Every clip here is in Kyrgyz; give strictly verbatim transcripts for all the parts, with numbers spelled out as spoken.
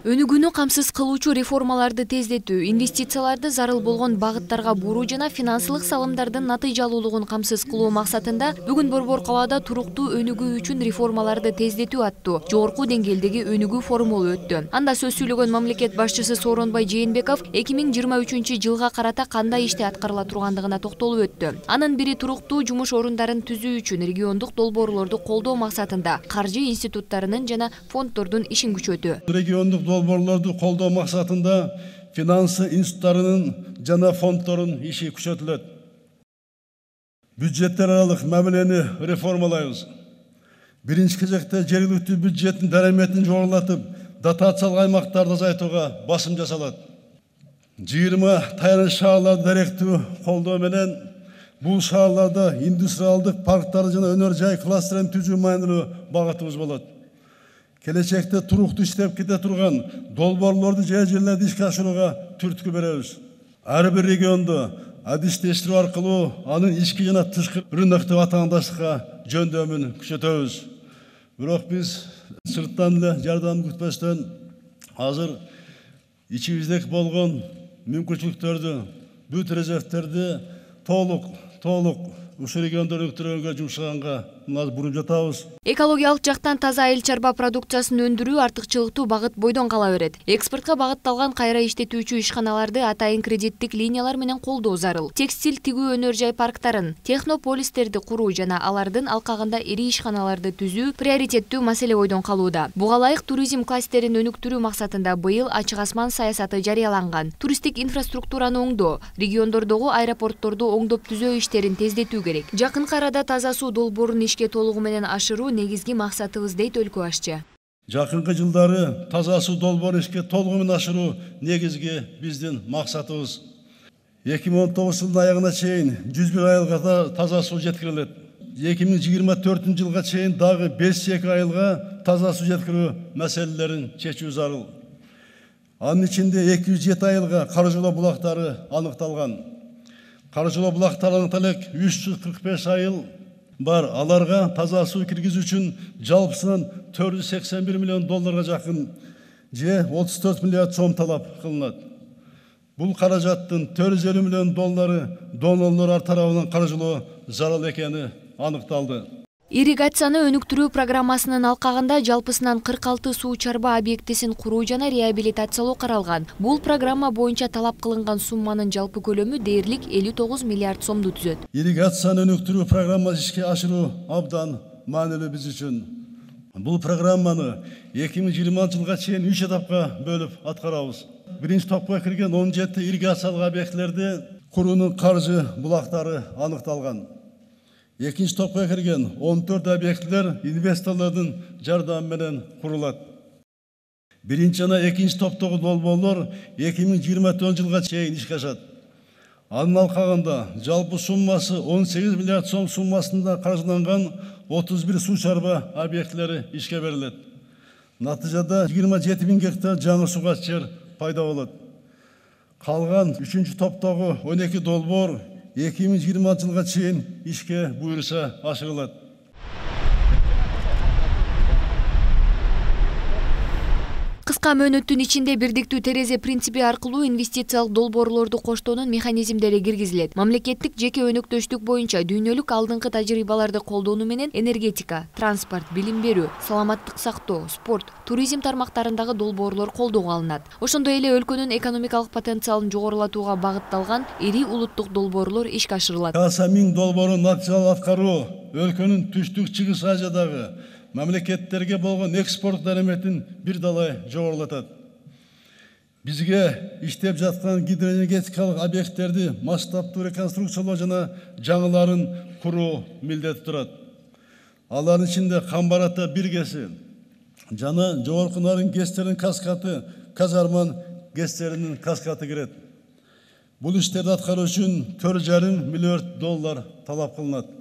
Өнүгүүнү камсыз кылуучу реформаларды тездетүү, инвестицияларды зарыл болгон багыттарга буруу жана финансылык салымдардын натыйжалуулугун камсыз кылуу максатында бүгүн Борбор калаада туруктуу өнүгүү үчүн реформаларды тездетүү аттуу жогорку деңгээлдеги өнүгүү форуму өттү. Анда сөз сүйлөгөн мамлекет башчысы Сооронбай Жээнбеков эки миң жыйырма үчүнчү жылга карата кандай иште аткарыла тургандыгына токтолуп өттү. Анын бири туруктуу жумуш орундарын түзүү үчүн региондук долбоорлорду колдоо максатында каржы институттарынын жана фонддордун ишин күчөтүү. Региондук долбоорлорду колдоо максатында финансы институттарынын жана фонддордун иши күчөтүлөт. Бюджеттер аралык мамилени реформалайбыз. Биринчи кезекте жергиликтүү бюджеттин дараметин жогорулатып, дотациялык аймактарды азайтууга басым жасалат. жыйырма таяныч шаарларды даректүү колдоо менен бул шаарларда индустриалдык парктарды жана өнөр жай кластерин түзүү маанилүү багытыбыз болот. Келечекте туруктуу иштеп кете турган долбоорлорду жай жерлерде ишке ашырууга түрткү беребиз. Ар бир региондо адистештирүү аркылуу анын ички жана тышкы рыноктук атаандаштыкка жөндөмүн күчөтөбүз. Бирок биз сырттан эле жардам күтпөстөн азыр ичибиздеги болгон мүмкүнчүлүктөрдү, бүт резервтерди толук толук ушул региондор өнүктүрүүгө жумшаганга мына буруп жатабыз. Экологиялык жактан таза айыл чарба продукциясын өндүрүү артыкчылыктуу багыт бойдон кала берет. Экспортко багытталган кайра иштетүүчү ишканаларды атайын кредиттик линиялар менен колдоо зарыл. Текстиль тигүү өнөр жай парктарын, технополистерди куруу жана алардын алкагында ири ишканаларды түзүү приоритеттүү маселе бойдон калууда. Буга ылайык туризм кластерин өнүктүрүү максатында быйыл ачык асман саясаты жарыяланган. Туристтик инфраструктураны оңдоо, региондордогу аэропортторду оңдоп түзөө иштерин тездетүү керек. Жакынкы арада таза суу долбоорун ишке толугу менен ашыруу негизги максатыбыз дейт өлкө башчы. Жакынкы жылдары таза суу долбоорун ишке толугу менен ашыруу негизги биздин максатыбыз. эки миң он тогузунчу жылдын аягына чейин жүз бир айылга таза суу жеткирилет. эки миң жыйырма төртүнчү жылга чейин дагы беш эки айылга таза суу жеткирүү маселелерин чечүү зарыл. Анын ичинде эки жүз жети айылга Каржолоо булактары аныкталган. Каржолоо булактарынын талек үч жүз кырк беш айыл бар. Аларга таза суу киргизүү үчүн жалпысынан төрт жүз сексен бир миллион долларга жакын же отуз төрт миллиард сом талап кылынат. Бул каражаттын төрт жүз элүү миллион доллары донорлор тарабынан каржылоо зарыл экени аныкталды. Ирригацияны өнүктүрүү программасынын алкагында жалпысынан кырк алты суу чарба объектисин куруу жана реабилитациялоо каралган. Бул программа боюнча талап кылынган сумманын жалпы көлөмү дээрлик элүү тогуз миллиард сомду түзөт. Ирригацияны өнүктүрүү программасын ишке ашыруу абдан маанилүү биз үчүн. Бул программаны эки миң жыйырманчы жылга чейин үч этапка бөлүп аткарабыз. Биринчи топко кирген он жети ирригациялык объектилерди куруунун каржы булактары аныкталган. Экинчи топко кирген он төрт объектилер инвесторлордун жардамы менен курулат. Биринчи жана экинчи топтогу долбоорлор эки миң жыйырма төртүнчү жылга чейин ишке ашат. Анын алкагында жалпы суммасы он сегиз миллиард сом суммасында каржыланган отуз бир суу чарба объектилери ишке берилет. Натыйжада жыйырма жети миң гектар жаңы сугат жер пайда болот. Калган үчүнчү топтогу он эки долбоор эки миң жыйырманчы жылга чейин ишке буйруса ашырылат. Кыска мөөнөттүн ичинде бирдиктүү терезе принципи аркылуу инвестициялык долбоорлорду коштоонун механизмдери киргизилет. Мамлекеттик жеке өнөктөштүк боюнча дүйнөлүк алдыңкы тажрыйбаларды колдонуу менен энергетика, транспорт, билим берүү, саламаттык сактоо, спорт, туризм тармактарындагы долбоорлор колдоого алынат. Ошондой эле өлкөнүн экономикалык потенциалын жогорулатууга багытталган ири улуттук долбоорлор ишке ашырылат. Каса миң долбоорун натыйжалуу аткаруу өлкөнүн түштүк чыгыш Азиядагы мамлекеттерге болгон экспорт дараметин бир далай жогорулатат. Бизге иштеп жаткан гидроэнергетикалык объекттерди масштабтуу реконструкциялоо жана жаңыларын куруу милдети турат. Алардын ичинде Камбарата бир гэси жана Жогорку Нарын гэстеринин каскаты, Казарман гэстеринин каскаты кирет. Бул иштерди аткаруу үчүн төрт жарым миллиард доллар талап кылынат.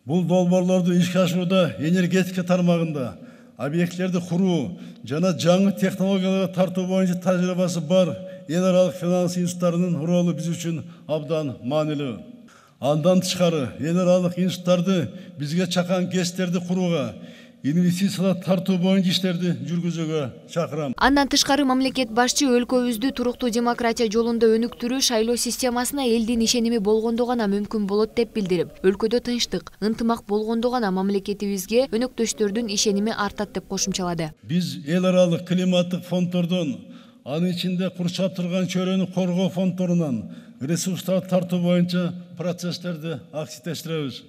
Бул долбоорлорду ишке ашырууда энергетика тармагында объектилерди куруу жана жаңы технологияларга тартуу боюнча тажрыйбасы бар эл аралык финанс институттарынын ролу биз үчүн абдан маанилүү. Андан тышкары эл аралык институттарды бизге чакан гэстерди курууга, инвестициялар тартуу боюнча иштерди жүргүзүүгө чакырам. Андан тышкары мамлекет башчы өлкөбүздү туруктуу демократия жолунда өнүктүрүү шайлоо системасына элдин ишеними болгондо гана мүмкүн болот деп билдирип, өлкөдө тынчтык, ынтымак болгондо гана мамлекетибизге өнөктөштөрдүн ишеними артат деп кошумчалады. Биз эл аралык климаттык фонддордон, анын ичинде курчап турган чөйрөнү коргоо фонддорунан ресурстарды тартуу боюнча процесстерди активдештиребиз.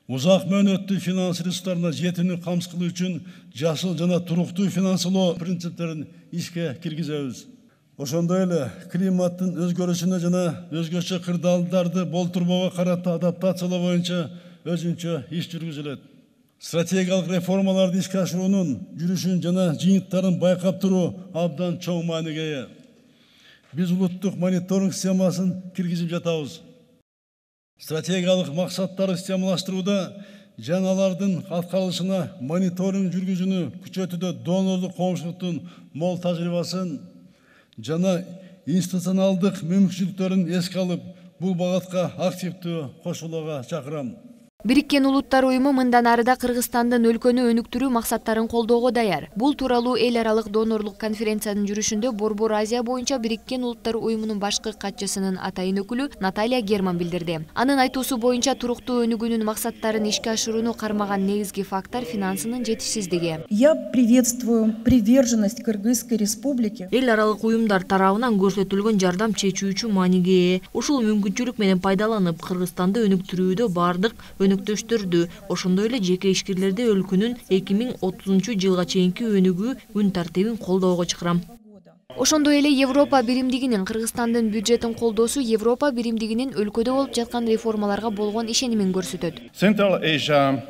Узак мөөнөттүү финанс ресурстарына жетүүнү камсыз кылуу үчүн жашыл жана туруктуу финансылоо принциптерин ишке киргизебиз. Ошондой эле климаттын өзгөрүшүнө жана өзгөчө кырдаалдарды болтурбоого карата адаптациялоо боюнча өзүнчө иш жүргүзүлөт. Стратегиялык реформаларды ишке ашыруунун жүрүшүн жана жыйынтыктарын байкап туруу абдан чоң мааниге ээ. Биз улуттук мониторинг системасын киргизип жатабыз. Стратегиялык максаттарды системалаштырууда жана алардын аткарылышына мониторинг жүргүзүүнү күчөтүүдө донорлук коомчулуктун мол тажрыйбасын жана институционалдык мүмкүнчүлүктөрүн эске алып, бул багытка активдүү кошулууга чакырам. Бириккен Улуттар уюму мындан арыда Кыргызстандын өлкөнү өнүктүрүү максаттарын колдоого даяр. Бул тууралуу эл аралык донорлук конференциянын жүрүшүндө Борбор Азия боюнча Бириккен Улуттар уюмунун башкы катчысынын атайын өкүлү Наталья Герман билдирди. Анын айтуусу боюнча туруктуу өнүгүүнүн максаттарын ишке ашырууну кармаган негизги фактор финансынын жетишсиздиги. Я приветствую приверженность Кыргызской республики. Эл аралык уюмдар тарабынан көрсөтүлгөн жардам чечүүчү мааниге ээ. Ушул мүмкүнчүлүк менен пайдаланып, Кыргызстанды өнүктүрүүдө бардык өнөктөштөрдү, ошондой эле жеке ишкерлерди өлкөнүн эки миң отузунчу жылга чейинки өнүгүү күн тартибин колдоого чакырам. Ошондой эле Европа биримдигинин Кыргызстандын бюджетин колдоосу Европа биримдигинин өлкөдө болуп жаткан реформаларга болгон ишенимин көрсөтөт. Central Asia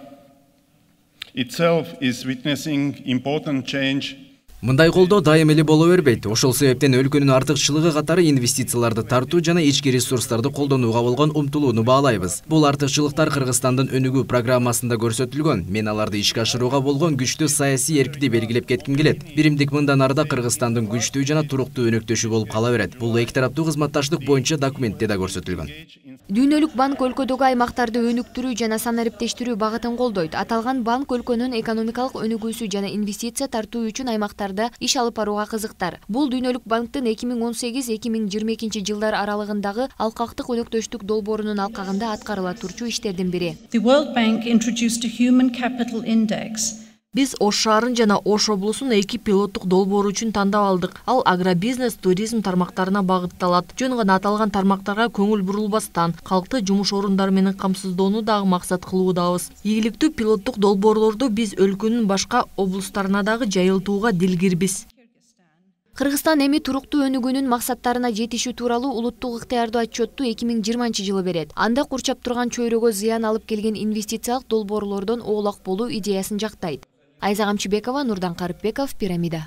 itself is witnessing important change. Мындай колдоо дайым эле боло бербейт. Ошол себептен өлкөнүн артыкчылыгы катары инвестицияларды тартуу жана ички ресурстарды колдонууга болгон умтулууну баалайбыз. Бул артыкчылыктар Кыргызстандын өнүгүү программасында көрсөтүлгөн. Мен аларды ишке ашырууга болгон күчтүү саясий эркти белгилеп кетким келет. Биримдик мындан арыда Кыргызстандын күчтүү жана туруктуу өнөктөшү болуп кала берет. Бул эки тараптуу кызматташтык боюнча документте да көрсөтүлгөн. Дүйнөлүк банк өлкөдөгү аймактарды өнүктүрүү жана санариптештирүү багытын колдойт. Аталган банк өлкөнүн экономикалык өнүгүүсү жана инвестиция тартуу үчүн аймактарда иш алып барууга кызыктар. Бул Дүйнөлүк банктын эки миң он сегиз эки миң жыйырма экинчи жылдар аралыгындагы алкактык өнөктөштүк долбоорунун алкагында аткарыла турчу иштердин бири. The World Bank introduced a human capital index. Биз Ош шаарын жана Ош облусун эки пилоттук долбоор үчүн тандап алдык. Ал агробизнес, туризм тармактарына багытталат. Жөн гана аталган тармактарга көңүл бурулбастан, калкты жумуш орундары менен камсыздоону дагы максат кылуудабыз. Ийгиликтүү пилоттук долбоорлорду биз өлкөнүн башка облустарына дагы жайылтууга дилгирбиз. Кыргызстан эми туруктуу өнүгүүнүн максаттарына жетишүү тууралуу улуттук ыктыярдуу отчетту эки миң жыйырманчы жылы берет. Анда курчап турган чөйрөгө зыян алып келген инвестициялык долбоорлордон оолак болуу идеясын жактайт. Айза Камчыбекова, Нурдан Карыпбеков, Пирамида.